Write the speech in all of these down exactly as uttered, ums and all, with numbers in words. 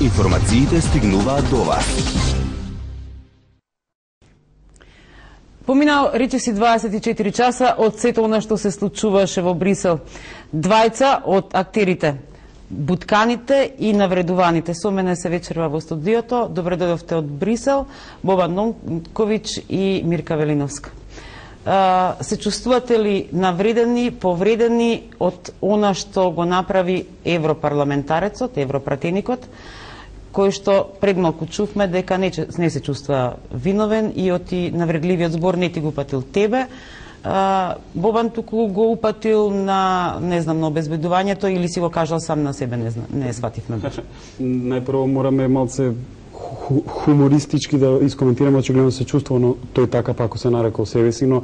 Информациите стигнуваат до вас. Поминал речиси дваесет и четири часа од сето она што се случуваше во Брисел. Двајца од актерите, бутканите и навредуваните. Со мене се вечерва во студиото. Добре дојдовте од Брисел, Бобан Нонковиќ и Мирка Велиновска. Се чувствувате ли навредени, повредени од она што го направи европарламентарецот, европратеникот, кој што пред малку чувме дека не, не се чувства виновен и од и навредливиот збор не ти го упатил тебе. Бобан туку го упатил на, не знам, на обезбедувањето или си го кажал сам на себе, не знам, не сватив на душа. Најпрво мораме малце хумористички да искоментираме, очигледно се чувствува, но тој така пако се нарекол себе си, но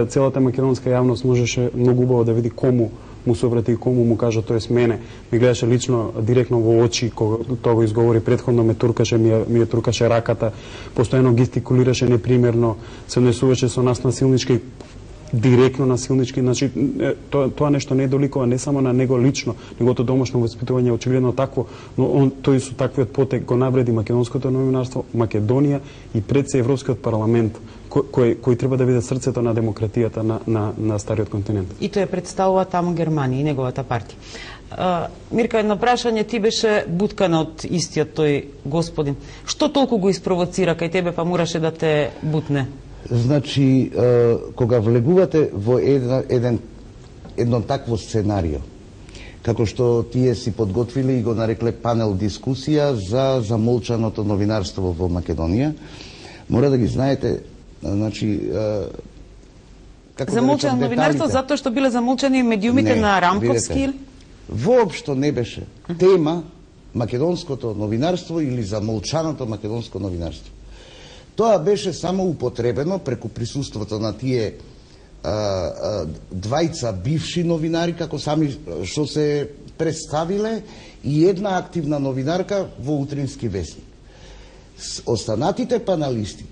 целата македонска јавност можеше многу убаво да види кому му се обрати и кому му кажа, тоест мене. Ми гледаше лично, директно во очи, кога тоа го изговори претходно, ме туркаше, ми ја, ми ја туркаше раката, постојано гестикулираше непримерно, се однесуваше со нас насилнички, директно насилнички, значи тоа, тоа нешто не доликува не само на него лично, неговото домашно воспитување е очигледно такво, но он тој со таквиот потек го навреди македонското новинарство, Македонија и пред се Европскиот парламент, кој, кој, кој треба да биде срцето на демократијата на, на, на стариот континент. И тој представува таму Германија и неговата партија. Uh, Мирка, едно прашање, ти беше буткана од истиот тој господин. Што толку го испровоцира кај тебе па мораше да те бутне? Значи, кога влегувате во едно, еден, едно такво сценарио, како што тие си подготвили и го нарекле панел дискусија за замолчаното новинарство во Македонија, мора да ги знаете, значи, како замолчано да новинарство затоа што биле замолчани медиумите не, на Рамковски? Видете, воопшто не беше тема македонското новинарство или замолчаното македонско новинарство. Тоа беше само употребено преку присуството на тие а, а, двајца бивши новинари, како сами што се представиле, и една активна новинарка во утрински весник. Останатите паналисти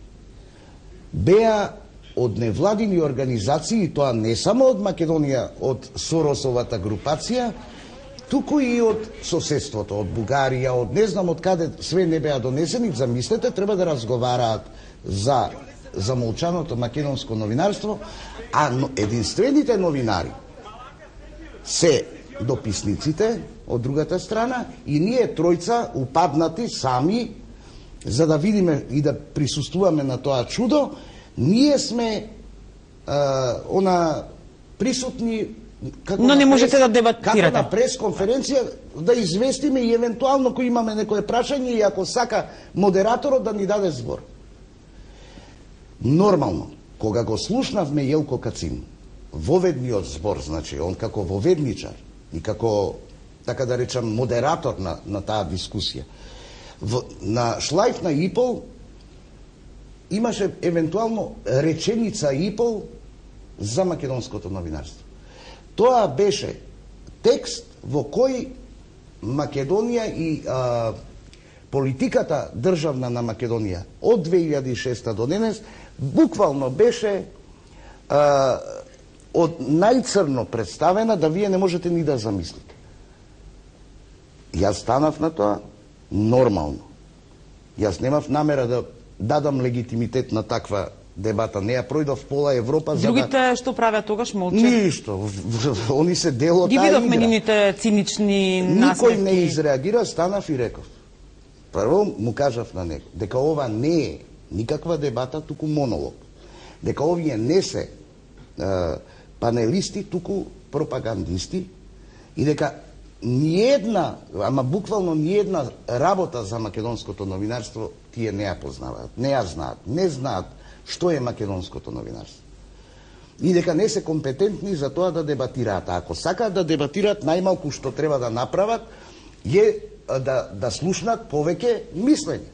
беа од невладини организации, и тоа не само од Македонија, од Соросовата групација, туку и од соседството, од Бугарија, од не знам од каде све не беа донесени. Замислете, треба да разговараат за замолчаното македонско новинарство, а единствените новинари се дописниците од другата страна и ние тројца упаднати сами за да видиме и да присуствуваме на тоа чудо. Ние сме а, она присутни. Како но не можете прес, да дебатирате. Како на пресконференција да известиме и евентуално кој имаме некое прашање и ако сака модераторот да ни даде збор. Нормално, кога го слушнавме Јелко Кацин, воведниот збор, значи, он како воведничар и како, така да речам, модератор на, на таа дискусија, в, на шлајф на и пол имаше евентуално реченица и пол за македонското новинарство. Тоа беше текст во кој Македонија и а, политиката државна на Македонија од две илјади и шеста до денес буквално беше а, од најцрно представена да вие не можете ни да замислите. Јас станав на тоа нормално. Јас немав намера да дадам легитимитет на таква дебата, не ја пројдов пола Европа. Другите за да... што правеа тогаш молче? Ништо. Они се дел од ги таа игра. Ги видовме нивните цинични насмевки. Никој не изреагира, станав и реков. Прво му кажав на него дека ова не е никаква дебата, туку монолог. Дека овие не се е, панелисти, туку пропагандисти и дека ниедна, ама буквално ниедна работа за македонското новинарство тие не ја познаваат, не ја знаат, не знаат што е македонското новинарство. И дека не се компетентни за тоа да дебатираат. А ако сакаат да дебатираат, најмалку што треба да направат е да, да слушнат повеќе мислење.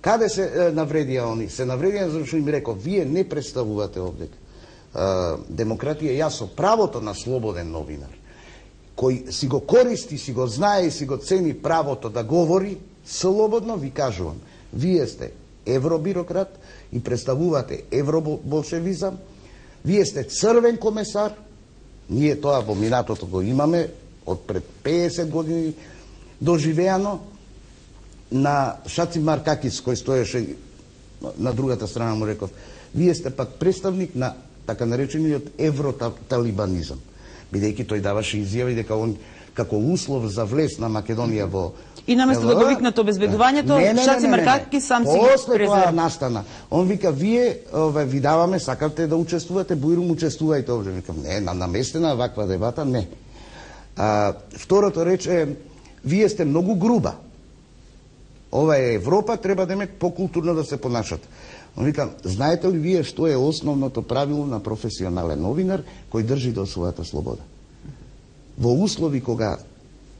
Каде се е, навредија они? Се навредија зашто им реков, вие не представувате овде демократија, јас со правото на слободен новинар, кој си го користи, си го знае и си го цени правото да говори слободно, ви кажувам, вие сте евробирократ и представувате евроболшевизам, вие сте црвен комесар, ние тоа во минатото го имаме од пред песет години, доживеано на Шаци Маркакис, кој стоеше на другата страна, му реков, вие сте пак представник на така наречениот евроталибанизам, бидејќи тој даваше изјави дека он како услов за влез на Македонија во и наместо да го викнат обезбедувањето, Шаци Маркакис сам си после тоа настана. Он вика, вие ове, ви даваме, сакате да учествувате, бујрум учествувајте овде. Викам, не, на наместена ваква дебата, не. А, второто рече, вие сте многу груба. Ова е Европа, треба да ме покултурно да се понашат. Он вика, знаете ли вие што е основното правило на професионален новинар кој држи до својата слобода? Во услови кога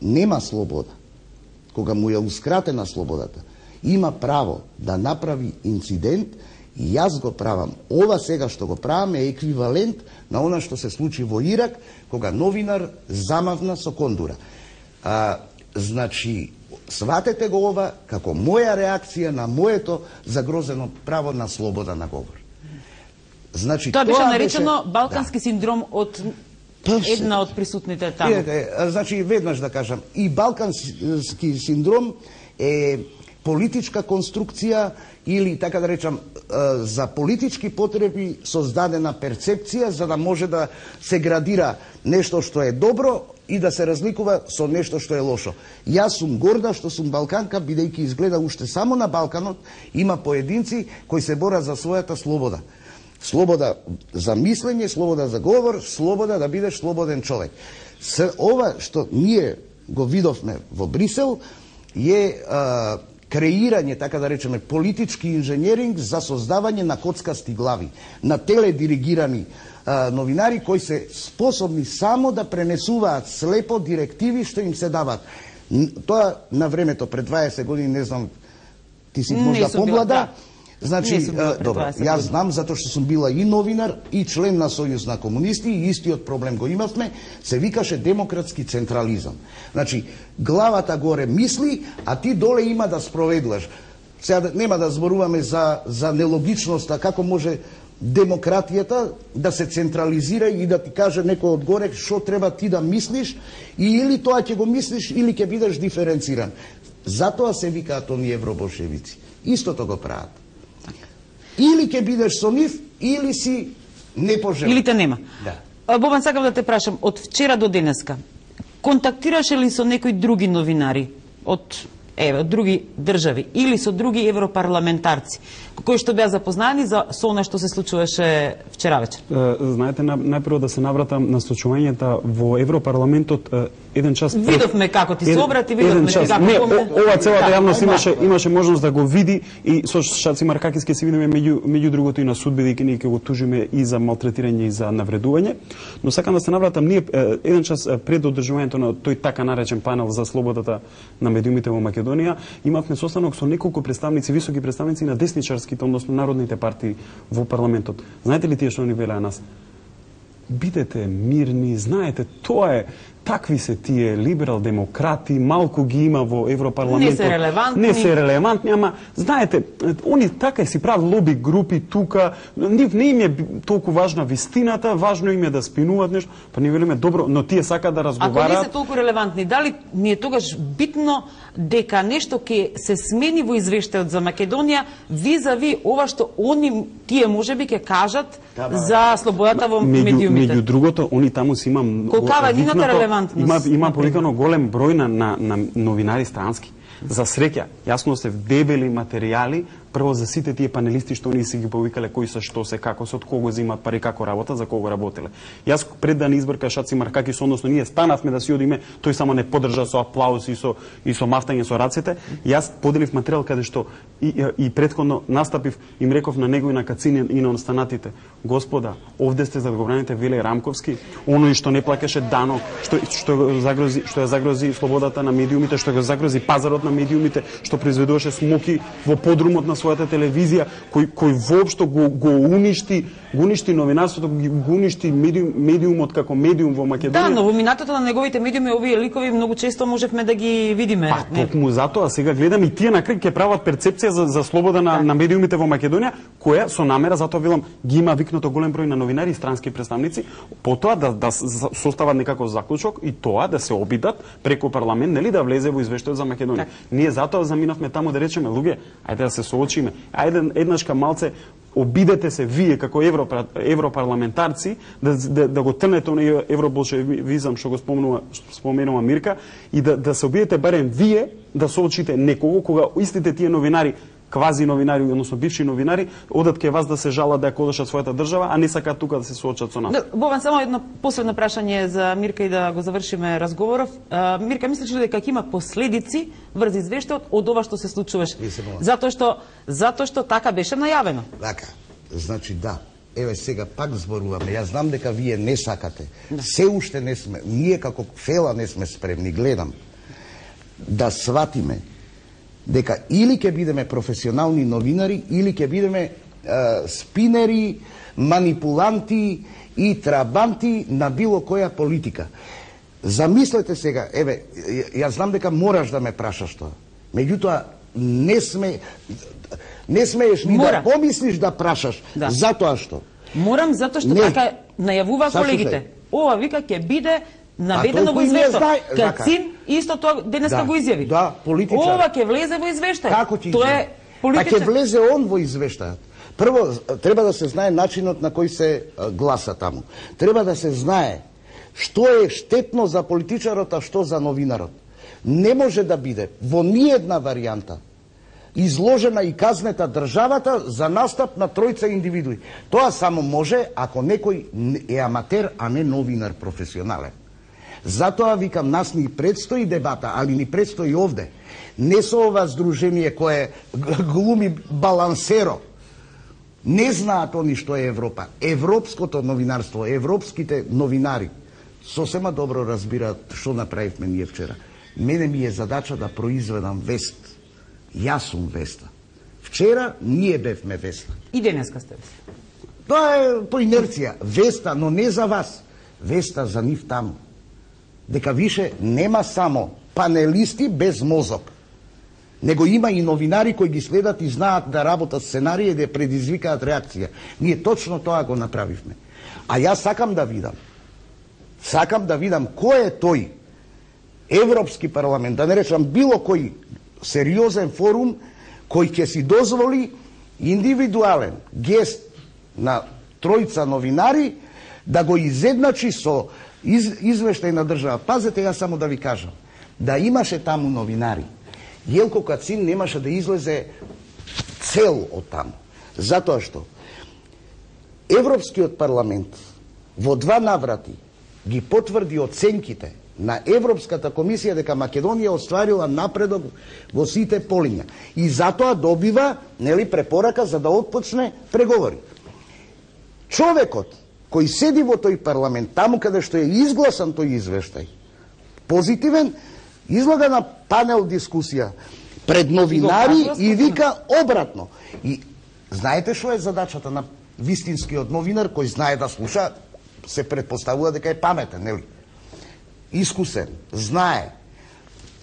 нема слобода, кога му е ускратена слободата, има право да направи инцидент и јас го правам. Ова сега што го правам е еквивалент на она што се случи во Ирак, кога новинар замавна со кондура. А, значи, сватете го ова како моја реакција на моето загрозено право на слобода на говор. Значи, тоа, тоа беше наречено беше... балкански да. синдром од една од присутните таму. Е, е, значи, веднаш да кажам, и балкански синдром е политичка конструкција или, така да речам, за политички потреби создадена перцепција за да може да се градира нешто што е добро и да се разликува со нешто што е лошо. Јас сум горда што сум балканка, бидејќи изгледа уште само на Балканот има поединци кои се борат за својата слобода. Слобода за мислење, слобода за говор, слобода да бидеш слободен човек. С ова што ние го видовме во Брисел е а, креирање, така да речеме, политички инженеринг за создавање на коцкасти глави, на теледиригирани а, новинари кои се способни само да пренесуваат слепо директиви што им се дават. Тоа на времето, пред дваесет години, не знам, ти си можда помлада, значи, добро, јас знам, затоа што сум била и новинар, и член на Сојуз на комунисти, и истиот проблем го имавме, се викаше демократски централизам. Значи, главата горе мисли, а ти доле има да спроведуваш. Сега нема да зборуваме за, за нелогичноста, како може демократијата да се централизира и да ти каже некој одгоре што треба ти да мислиш, и или тоа ќе го мислиш, или ќе бидеш диференциран. Затоа се викаат оние евроболшевици. Истото го прават. Или ќе бидеш со нив, или си непожелен. Или те нема. Да. Бобан, сакам да те прашам, од вчера до денеска, контактираше ли со некои други новинари од еве, од други држави или со други европарламентарци кои што беа запознани за со она што се случуваше вчера вечер? Знаете, најпрво да се навратам на случувањата во Европарламентот еден час пред... Видовме како ти се обрати, видовме како... Не, ова целата јавност имаше имаше можност да го види и со Шаци Маркакис ќе се видиме меѓу меѓу другото и на суд, бидејќи ние ќе го тужиме и за малтретирање и за навредување. Но сакам да се навратам, ние еден час пред одржувањето на тој така наречен панел за слободата на медиумите во Македонија, имавме состанок со неколку представници, високи представници на десничарските, односно народните партии во парламентот. Знаете ли тие што ни велеа нас? Бидете мирни, знаете, тоа е, такви се тие либерал-демократи, малку ги има во Европарламентот. Не се релевантни. Не се релевантни, ама, знаете, они така си прават лоби групи тука, нив не им е толку важна вистината, важно им е да спинуваат нешто, па ни велиме, добро, но тие сака да разговараат. Ако не се толку релевантни, дали ни е тогаш битно дека нешто ќе се смени во извештајот за Македонија визави ова што они, тие можеби ќе кажат да, за слободата во медиумите? Меѓу другото, они таму си има... Колкава е нивната релевантност? Има, има повикано голем број на, на, на новинари странски. За среќа, јасно се дебели материјали, прво за сите тие панелисти што ние си ги повикале кои се, што се, како се, од кого земаат пари, како работа, за кого работеле. Јас пред да не избрка Шаци Маркакис, односно ние станавме да си одиме, тој само не поддржа со аплауз и со и со мафтање со рацете. Јас поделив материјал каде што и, и, и претходно настапив, им реков на него и на Кацин и на останатите: Господа, овде сте за да го браните Виле Рамковски, оној што не плакаше данок, што што го загрози, што ја загрози слободата на медиумите, што го загрози пазарот на на медиумите, што произведуваше смоки во подрумот на својата телевизија, кој кој воопшто го го уништи, го уништи новинарството, го уништи медиум, медиумот како медиум во Македонија. Да, но во минатото на неговите медиуми овие ликови многу често можевме да ги видиме. Па токму затоа сега гледам и тие на крај ќе прават перцепција за за слобода на, на медиумите во Македонија, која со намера, затоа велам, ги има викнато голем број на новинари и странски представници, потоа да да состават некаков заклучок и тоа да се обидат преку парламент, нели да влезе во извештајот за Македонија. Так. Ние затоа заминавме таму да речеме, луѓе, ајде да се соочиме. Ајде еднашка малце обидете се вие како евро, европарламентарци да, да, да го трнете оној евроболшевизам што го спомнува споменува Мирка и да да се обидете барем вие да соочите некого кога истите тие новинари, квази новинари, односно бивши новинари, одат кај вас да се жалат да ја колешат својата држава, а не сакаат тука да се соочат со нас. Да, Бован, само едно последно прашање за Мирка и да го завршиме разговоров. А, Мирка, мислиш ли дека ќе има последици врз извештајот од ова што се случуваше? Затоа што затоа што така беше најавено. Така. Значи да. Еве сега пак зборуваме. Јас знам дека вие не сакате. Да. Се уште не сме, ние како фела не сме спремни, гледам да сватиме дека или ќе бидеме професионални новинари, или ќе бидеме е, спинери, манипуланти и трабанти на било која политика. Замислете сега, еве, јас знам дека мораш да ме прашаш тоа. Меѓутоа, не сме не смееш ни Мора. да помислиш да прашаш, да. Затоа што? Морам, затоа што не. Така најавува колегите. Ова вика ќе биде наведено во извештај. Кацин исто тоа денеска да. го изјави. Да, политичар. Ова ќе влезе во извештај. Како ќе Тоа е политичар. Па ќе влезе он во извештајот. Прво треба да се знае начинот на кој се гласа таму. Треба да се знае што е штетно за политичарот, а што за новинарот. Не може да биде во ниедна варијанта изложена и казнета државата за настап на тројца индивидуи. Тоа само може ако некој е аматер, а не новинар професионален. Затоа викам, нас ни предстои дебата, али ни предстои овде. Не со ова здружение кое глуми балансеро. Не знаат они што е Европа. Европското новинарство, европските новинари сосема добро разбираат што направивме ние вчера. Мене ми е задача да произведам вест. Јас сум веста. Вчера ние бевме веста. И денеска сте веста. Тоа е по инерција. Веста, но не за вас. Веста за нив таму. Дека више нема само панелисти без мозок. Него има и новинари кои ги следат и знаат да работат сценарија и да предизвикаат реакција. Ние точно тоа го направивме. А јас сакам да видам. Сакам да видам кој е тој Европски парламент, да не речам било кој сериозен форум кој ќе си дозволи индивидуален гест на тројца новинари да го изедначи со из, извештај на држава. Пазете, јас само да ви кажам, да имаше таму новинари, Јелко Кацин немаше да излезе цел од таму. Затоа што Европскиот парламент во два наврати ги потврди оценките на Европската комисија дека Македонија остварила напредок во сите полиња. И затоа добива, нели, препорака за да отпочне преговори. Човекот кој седи во тој парламент, таму каде што е изгласан тој извештај, позитивен, излага на панел дискусија пред новинари и вика обратно. И знаете што е задачата на вистинскиот новинар кој знае да слуша, се предпоставува дека е паметен, нели? Искусен, знае.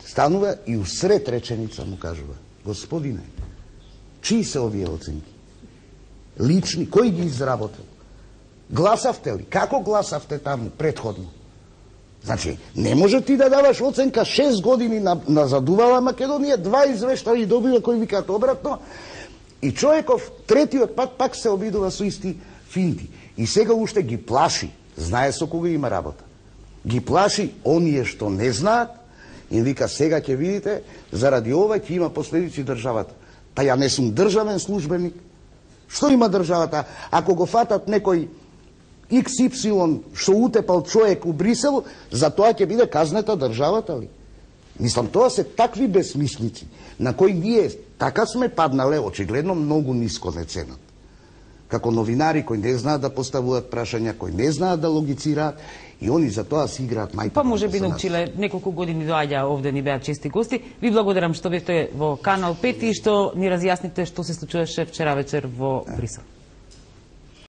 Станува и усред реченица му кажува: господине, чии се овие оценки? Лични, кој ги изработил? Гласавте ли? Како гласавте таму претходно? Значи, не може ти да даваш оценка шест години на, назадувала Македонија, два извештаи добива кои викаат обратно, и човеков третиот пат пак се обидува со исти финти. И сега уште ги плаши, знае со кога има работа. Ги плаши оние што не знаат и вика: сега ќе видите, заради ова ќе има последици државата. Па ја не сум државен службеник. Што има државата? Ако го фатат некој икс ипсилон што утепал човек у Брисел, за тоа ќе биде казнета државата ли? Мислам, тоа се такви безсмислици, на кои ние така сме паднале, очигледно многу ниско не ценат. како новинари кои не знаат да поставуваат прашања, кои не знаат да логицираат, и они за тоа си играат мајта. Па може би научиле, неколку години доаѓа овде, ни беа чести гости. Ви благодарам што бевте во Канал пет и што ни разјасните што се случуваше вчера вечер во Брисел.